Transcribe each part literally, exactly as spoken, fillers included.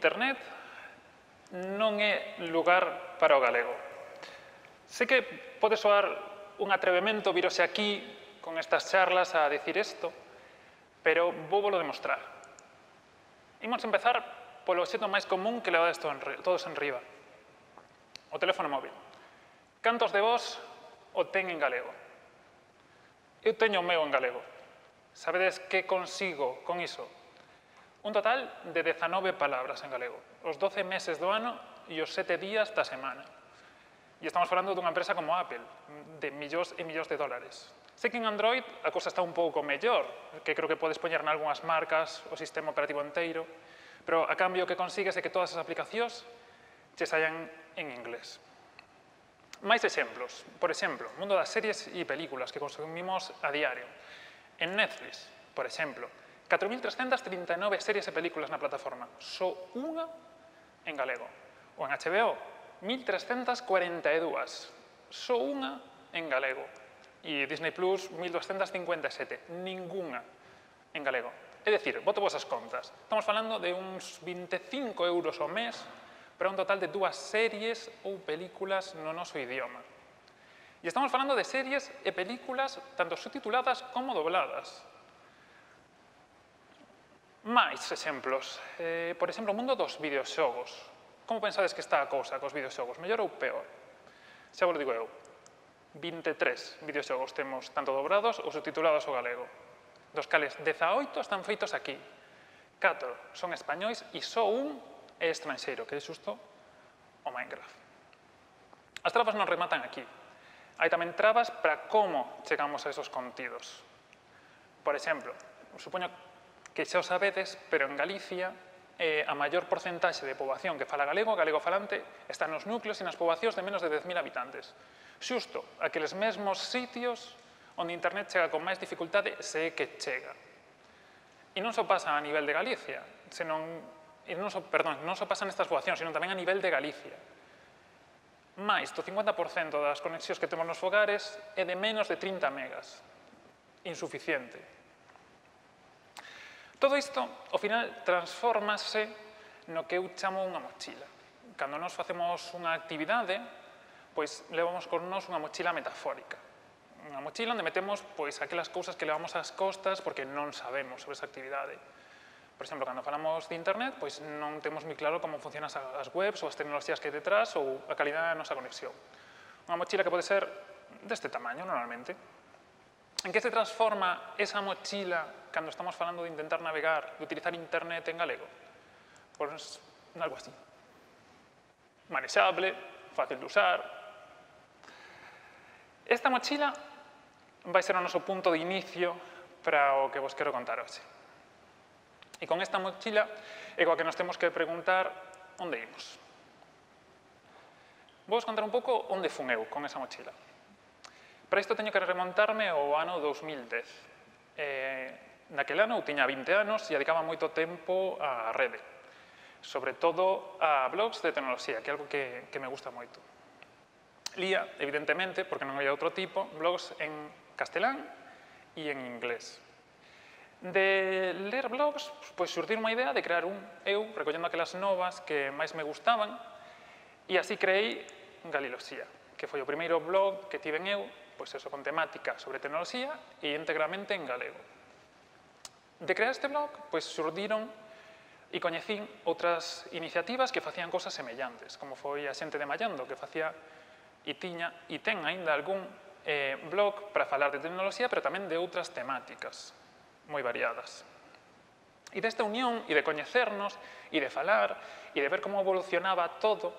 Internet non é lugar para o galego. Sei que pode soar un atrevemento virose aquí con estas charlas a decir isto, pero vou volo demostrar. Imos empezar polo obxecto máis común que levades todos en riba. O teléfono móvil. Cantos de vos o ten en galego? Eu teño o meu en galego. Sabedes que consigo con iso? Un total de dezanove palabras en galego. Os doce meses do ano e os sete días da semana. E estamos falando dunha empresa como Apple, de millóns e millóns de dólares. Sei que en Android a cousa está un pouco mellor, que creo que podes poñer nalgúnas marcas o sistema operativo inteiro, pero a cambio o que consigues é que todas as aplicacións che saian en inglés. Máis exemplos. Por exemplo, o mundo das series e películas que consumimos a diario. En Netflix, por exemplo, catro mil trescentas trinta e nove series e películas na plataforma, só unha en galego. O en H B O, mil trescentas cuarenta e dúas, só unha en galego. E Disney Plus, mil doscientas cincuenta e sete, ningunha en galego. É dicir, boto vos as contas. Estamos falando de uns vinte e cinco euros ao mes para un total de dúas series ou películas no noso idioma. E estamos falando de series e películas tanto subtituladas como dobladas. Máis exemplos. Eh, por exemplo, o mundo dos videoxogos. Como pensades que está a cousa cos videoxogos? Mellor ou peor? Xa vos digo eu. vinte e tres videoxogos temos tanto dobrados ou subtitulados ao galego. Dos cales dezaoito están feitos aquí. catro son españois e só un é estranxeiro, que é xusto o Minecraft. As trabas non rematan aquí. Hai tamén trabas para como chegamos a esos contidos. Por exemplo, supoño que xa o sabedes, pero en Galicia eh, a maior porcentaxe de poboación que fala galego, galego falante, está nos núcleos e nas poboacións de menos de dez mil habitantes. Xusto aqueles mesmos sitios onde Internet chega con máis dificultade se é que chega. E non só pasa a nivel de Galicia, senón, e non só, perdón, non só pasa nestas poboacións, senón tamén a nivel de Galicia. Mais do cincuenta por cento das conexións que temos nos fogares é de menos de trinta megas. Insuficiente. Todo isto, ao final, transfórmase no que eu chamo unha mochila. Cando nos facemos unha actividade, pois levamos con nós unha mochila metafórica. Unha mochila onde metemos pois aquelas cousas que levamos ás costas porque non sabemos sobre esa actividade. Por exemplo, cando falamos de Internet, pois non temos moi claro como funcionan as webs ou as tecnoloxías que hai detrás ou a calidade da nosa conexión. Unha mochila que pode ser deste tamaño, normalmente. En que se transforma esa mochila cando estamos falando de intentar navegar, de utilizar Internet en galego? Pois algo así. Manexable, fácil de usar. Esta mochila vai ser o noso punto de inicio para o que vos quero contar hoxe. E con esta mochila é coa que nos temos que preguntar onde imos. Vou vos contar un pouco onde fun eu con esa mochila. Para isto teño que remontarme ao ano dos mil dez. Eh, naquele ano eu tiña vinte anos e dedicaba moito tempo á rede. Sobre todo a blogs de tecnoloxía, que é algo que, que me gusta moito. Lía, evidentemente, porque non había outro tipo, blogs en castelán e en inglés. De ler blogs, pois xurdir unha idea de crear un eu, recollendo aquelas novas que máis me gustaban, e así creei Galiloxía, que foi o primeiro blog que tiven eu, pois eso, con temática sobre tecnoloxía e íntegramente en galego. De crear este blog, pois xurdiron e coñecín outras iniciativas que facían cosas semellantes, como foi a xente de Mallando, que facía e tiña e ten aínda algún eh, blog para falar de tecnoloxía, pero tamén de outras temáticas moi variadas. E desta unión, e de coñecernos, e de falar, e de ver como evolucionaba todo,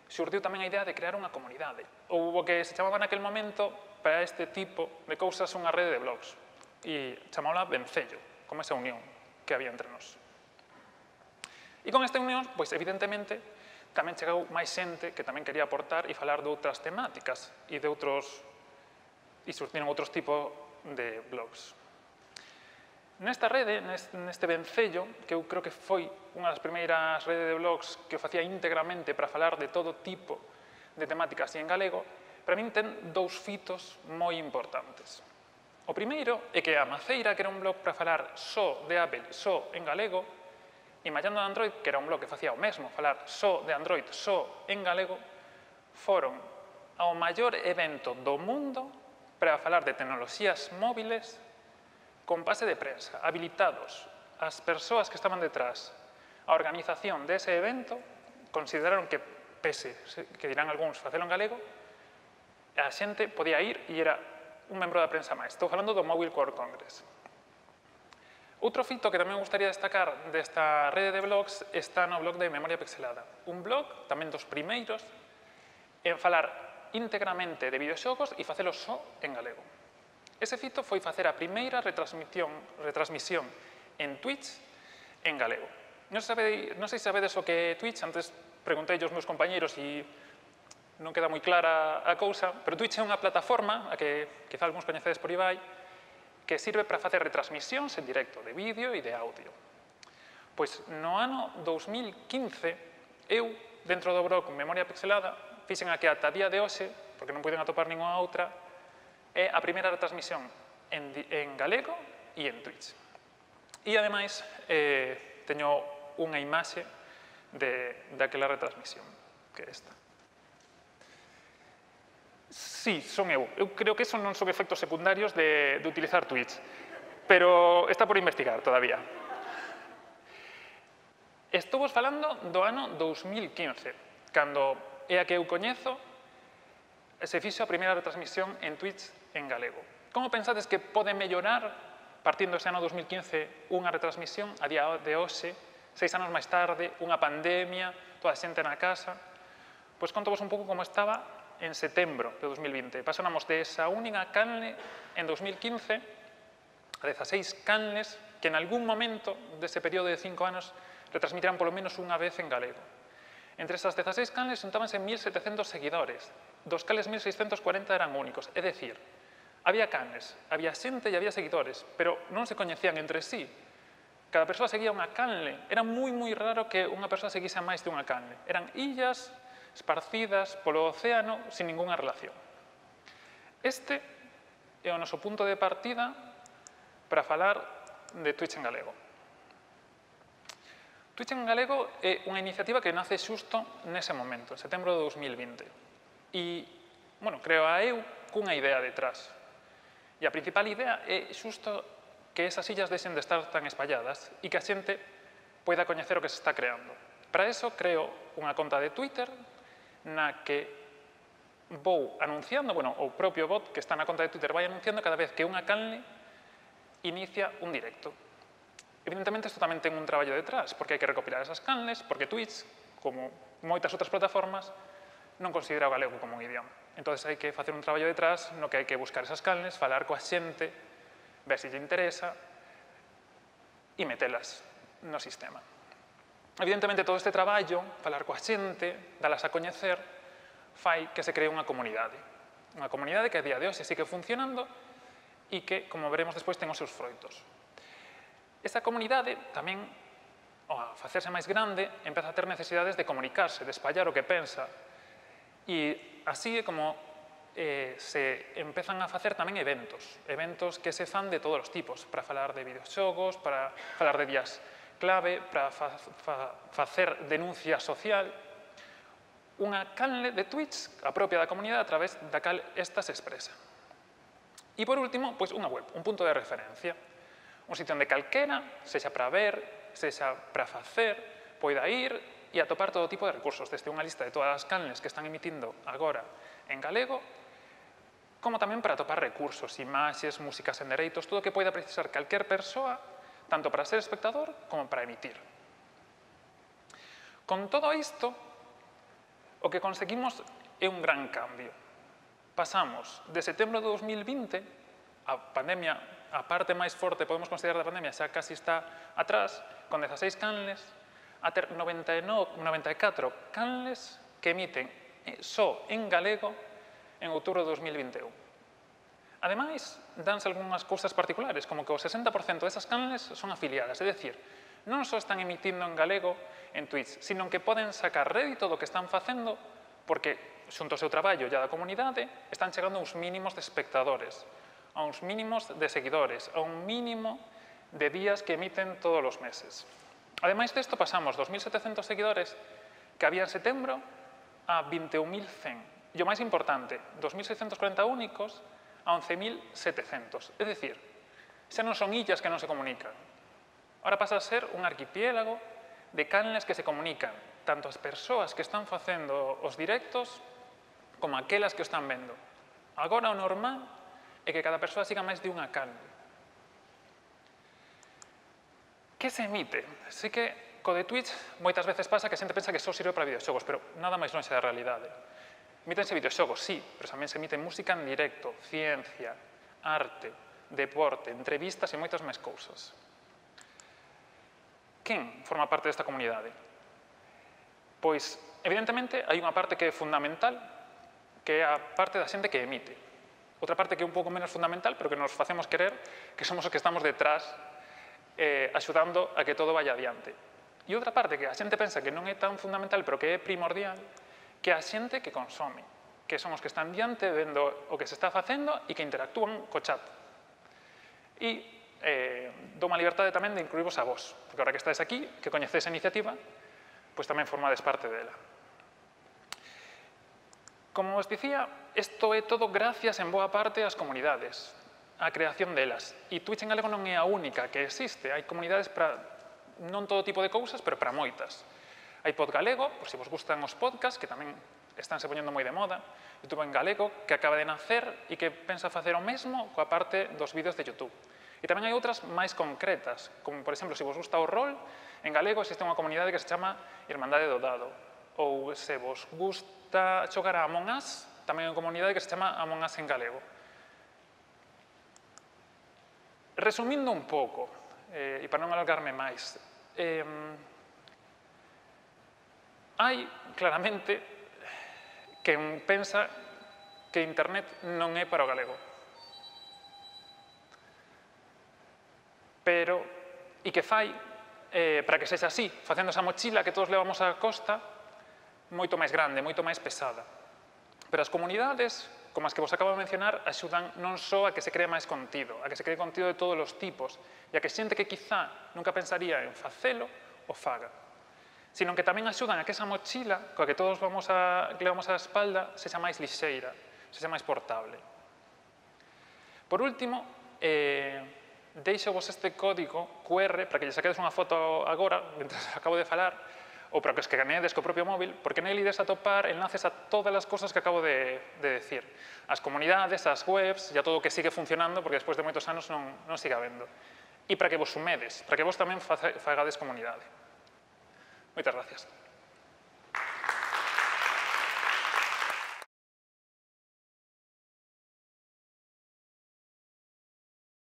xurdiu tamén a idea de crear unha comunidade. Ou o que se chamaba naquel momento, para este tipo de cousas, unha rede de blogs. E chamábala Vencello, como esa unión que había entre nós. E con esta unión, pois, evidentemente, tamén chegou máis xente que tamén quería aportar e falar de outras temáticas e de outros, e surtiron outros tipos de blogs. Nesta rede, neste vencello, que eu creo que foi unha das primeiras redes de blogs que o facía íntegramente para falar de todo tipo de temáticas e en galego, para min ten dous fitos moi importantes. O primeiro é que a Maceira, que era un blog para falar só de Apple, só en galego, Imallando de Android, que era un blog que facía o mesmo, falar só de Android, só en galego, foron ao maior evento do mundo para falar de tecnoloxías móviles con pase de prensa, habilitados. As persoas que estaban detrás a organización dese evento consideraron que, pese, que dirán algúns, facelo en galego, a xente podía ir e era un membro da prensa máis. Estou falando do Mobile World Congress. Outro fito que tamén me gustaría destacar desta rede de blogs está no blog de Memoria Pixelada. Un blog, tamén dos primeiros, en falar íntegramente de videoxogos e facelo só en galego. Ese fito foi facer a primeira retransmisión, retransmisión en Twitch en galego. Non sei, non sei se sabedes o que é Twitch, antes preguntei aos meus compañeiros e non queda moi clara a cousa, pero Twitch é unha plataforma, a que quizá algúns coñecedes por aí, que sirve para facer retransmisións en directo de vídeo e de audio. Pois no ano dous mil quince, eu, dentro do blog Memoria Pixelada, fixen a que ata día de hoxe, porque non puiden atopar ninguna outra, é a primeira retransmisión en, en galego e en Twitch. E, ademais, eh, teño unha imaxe de, daquela retransmisión, que é esta. Sí, son eu. Eu creo que eso non son efectos secundarios de, de utilizar Twitch, pero está por investigar todavía. Estou vos falando do ano dous mil quince, cando é a que eu coñezo, se fixo a primeira retransmisión en Twitch en galego. Como pensades que pode mellorar, partindo ese ano dous mil quince, unha retransmisión a día de hoxe, seis anos máis tarde, unha pandemia, toda a xente na casa? Pois conto vos un pouco como estaba en setembro de dous mil vinte. Pasamos de esa única canle en dous mil quince a dezaseis canles que en algún momento dese período de cinco anos retransmitirán polo menos unha vez en galego. Entre esas dezaseis canles xuntábanse mil setecentos seguidores, dos cales mil seiscentos cuarenta eran únicos, é dicir, había canles, había xente e había seguidores, pero non se coñecían entre sí. Cada persoa seguía unha canle. Era moi, moi raro que unha persoa seguise a máis de unha canle. Eran illas esparcidas polo océano sin ningunha relación. Este é o noso punto de partida para falar de Twitch en galego. Twitch en galego é unha iniciativa que nace xusto nese momento, en setembro de dous mil vinte. E, bueno, creo a eu cunha idea detrás. E a principal idea é xusto que esas illas deixen de estar tan espalladas e que a xente poida coñecer o que se está creando. Para eso creo unha conta de Twitter na que vou anunciando, bueno, o propio bot que está na conta de Twitter vai anunciando cada vez que unha canle inicia un directo. Evidentemente, isto tamén ten un traballo detrás, porque hai que recopilar esas canles, porque Twitch, como moitas outras plataformas, non considera o galego como un idioma. Entón, hai que facer un traballo detrás no que hai que buscar esas canles, falar coa xente, ver se lle interesa e metelas no sistema. Evidentemente, todo este traballo, falar coa xente, dalas a coñecer, fai que se cree unha comunidade. Unha comunidade que a día de hoxe sigue funcionando e que, como veremos despois, ten os seus froitos. Esta comunidade tamén, ao facerse máis grande, empeza a ter necesidades de comunicarse, de espallar o que pensa. E así é como eh, se empezan a facer tamén eventos. Eventos que se fan de todos os tipos, para falar de videoxogos, para falar de días clave, para fa, fa, facer denuncia social, unha canle de Twitch, a propia da comunidade, a través da cal esta se expresa. E, por último, pois unha web, un punto de referencia. Un sitio onde calquera, sexa para ver, sexa para facer, poida ir e atopar todo tipo de recursos, desde unha lista de todas as canles que están emitindo agora en galego, como tamén para atopar recursos, imaxes, músicas en dereitos, todo o que poida precisar calquer persoa, tanto para ser espectador como para emitir. Con todo isto, o que conseguimos é un gran cambio. Pasamos de setembro de dous mil vinte, a pandemia, a parte máis forte, podemos considerar da pandemia, xa casi está atrás, con dezaseis canles, a ter noventa e nove, noventa e catro canles que emiten só en galego en outubro de dous mil vinte e un. Ademais, danse algunhas cousas particulares, como que o sesenta por cento desas canles son afiliadas, é dicir, non só están emitindo en galego en Twitch, sino que poden sacar rédito do que están facendo, porque, xunto ao seu traballo e da comunidade, están chegando a uns mínimos de espectadores, a uns mínimos de seguidores, a un mínimo de días que emiten todos os meses. Ademais desto, pasamos dos mil setecentos seguidores que había en setembro a vinte e un mil cen. E o máis importante, dos mil seiscentos corenta únicos a once mil setecentos. É dicir, xa non son illas que non se comunican. Ahora pasa a ser un arquipiélago de canles que se comunican, tanto as persoas que están facendo os directos como aquelas que o están vendo. Agora o normal é que cada persoa siga máis de unha canle. Que se emite? Sí que co de Twitch moitas veces pasa que a xente pensa que só sirve para videoxogos, pero nada máis lonxe da realidade. Emítense videoxogos, sí, pero tamén se emite música en directo, ciencia, arte, deporte, entrevistas e moitas máis cousas. Quen forma parte desta comunidade? Pois, evidentemente, hai unha parte que é fundamental, que é a parte da xente que emite. Outra parte que é un pouco menos fundamental, pero que nos facemos querer, que somos os que estamos detrás eh, axudando a que todo vaya adiante. E outra parte que a xente pensa que non é tan fundamental, pero que é primordial, que é a xente que consome, que son os que están diante vendo o que se está facendo e que interactúan co chat. E eh, dou má liberdade tamén de incluirvos a vos, porque ahora que estáis aquí, que coñecedes a iniciativa, pois tamén formades parte dela. Como os dicía, isto é todo gracias en boa parte ás comunidades, á creación delas. E Twitch en galego non é a única que existe, hai comunidades para non todo tipo de cousas, pero para moitas. Hai Podgalego, por se vos gustan os podcasts, que tamén estánse poñendo moi de moda, YouTube en galego, que acaba de nacer e que pensa facer o mesmo coa parte dos vídeos de YouTube. E tamén hai outras máis concretas, como, por exemplo, se vos gusta o rol, en galego existe unha comunidade que se chama Irmandade do Dado. Ou se vos gusta xogar a Among Us, tamén hai unha comunidade que se chama Among Us en galego. Resumindo un pouco, eh, e para non alargarme máis, eh, hai claramente quen pensa que internet non é para o galego. Pero, e que fai, eh, para que sexa así, facendo esa mochila que todos levamos á costa, moito máis grande, moito máis pesada. Pero as comunidades, como as que vos acabo de mencionar, axudan non só a que se cree máis contido, a que se cree contido de todos os tipos, e a que xente que quizá nunca pensaría en facelo, o faga. Sino que tamén axudan a que esa mochila, coa que todos vamos a, que levamos á espalda, sexa máis lixeira, sexa máis portable. Por último, eh, deixo vos este código Q R para que lle saquedes unha foto agora, mentre acabo de falar, ou para que os que ganedes co propio móvil, porque nel ides a topar enlaces a todas as cosas que acabo de, de decir. As comunidades, as webs, e a todo o que sigue funcionando, porque despois de moitos anos non, non siga vendo. E para que vos sumedes, para que vos tamén fagades comunidade. Moitas gracias.